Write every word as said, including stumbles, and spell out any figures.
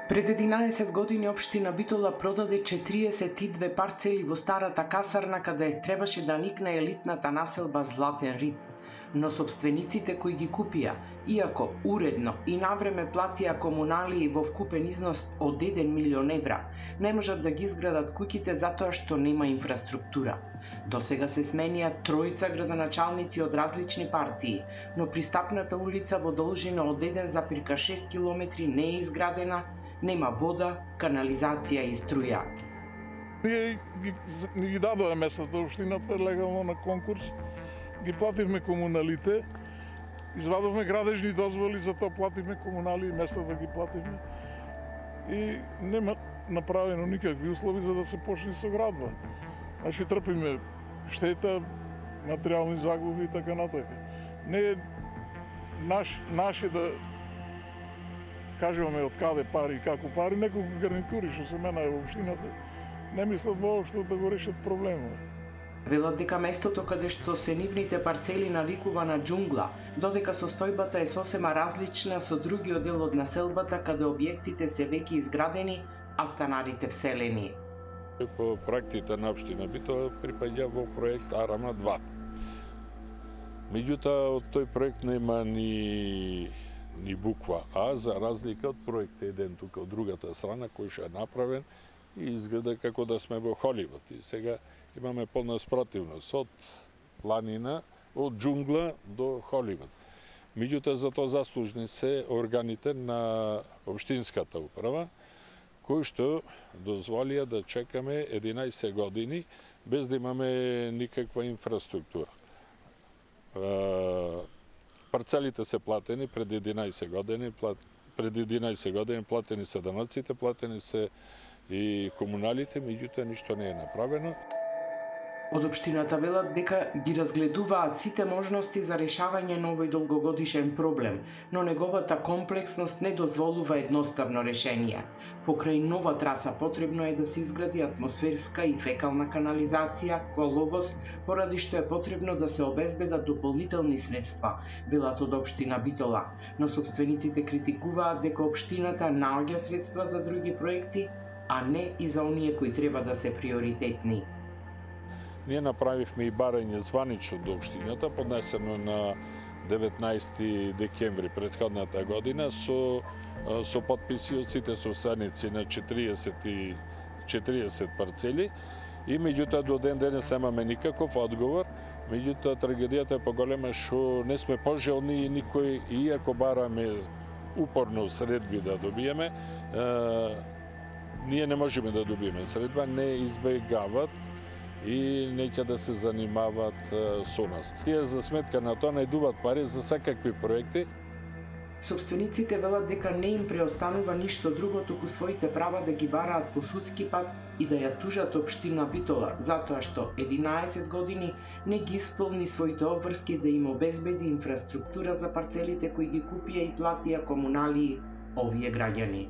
Пред единаесет години општина Битола продаде четириесет и две парцели во старата касарна каде требаше да никне елитната населба Златен Рид. Но собствениците кои ги купија, иако уредно и навреме платија комуналии во вкупен износ од еден милион евра, не можат да ги изградат куќите затоа што нема инфраструктура. До сега се сменија тројца градоначалници од различни партии, но пристапната улица во должина од еден запирка шест километри не е изградена, нема вода, канализација и струја. Ние ги, ги дадоа местата општината легално на конкурс, ги плативме комуналите, извадовме градежни дозволи, затоа плативме комунали и местата ги плативме. И нема направено никакви услови за да се почне со градба. Значи трпиме штета, материјални загуби и така натака. Не е наш, наше да кажуваме од каде пари и како пари, неколку гарнитури што се менаа во општината, не мислат воопшто да го решат проблемот. Велат дека местото каде што се нивните парцели навикува на џунгла, додека состојбата е сосема различна со другиот дел од населбата каде објектите се веќе изградени, а станарите вселени. По проектите на општина Битола припаѓа во проект Арама два. Меѓутоа, од тој проект нема ни ни буква А, за разлика од проект еден тука од другата страна, кој што е направен и изгледа како да сме во Холивуд. И сега имаме полна спротивност од планина, од џунгла до Холивуд. Меѓутоа, за тоа заслужни се органите на општинската управа, кои што дозволија да чекаме единаесет години без да имаме никаква инфраструктура. Парцелите се платени пред единаесет години, пред единаесет години платени се даноците, платени се и комуналите, меѓутоа ништо не е направено. Од општината велат дека ги разгледуваат сите можности за решавање на овој долгогодишен проблем, но неговата комплексност не дозволува едноставно решение. Покрај нова траса потребно е да се изгради атмосферска и фекална канализација, коловоз, поради што е потребно да се обезбедат дополнителни средства, велат од општина Битола, но собствениците критикуваат дека општината наоѓа средства за други проекти, а не и за оние кои треба да се приоритетни. Ние направивме и барање званично до општината, поднесено на деветнаесети декември претходната година со со потписи од сите собственици на четириесет парцели и меѓутоа до ден денес немаме никаков одговор. Меѓутоа трагедијата е поголема што не сме пожелни и никој, иако бараме упорно средби да добиеме, е, ние не можеме да добиеме средба, не избегават и неќе да се занимават со нас. Тие за сметка на тоа најдуваат пари за секакви проекти. Собствениците велат дека не им преостанува ништо друго туку своите права да ги бараат по судски пат и да ја тужат општина Битола, затоа што единаесет години не ги исполни своите обврски да им обезбеди инфраструктура за парцелите кои ги купија и платија комуналии овие граѓани.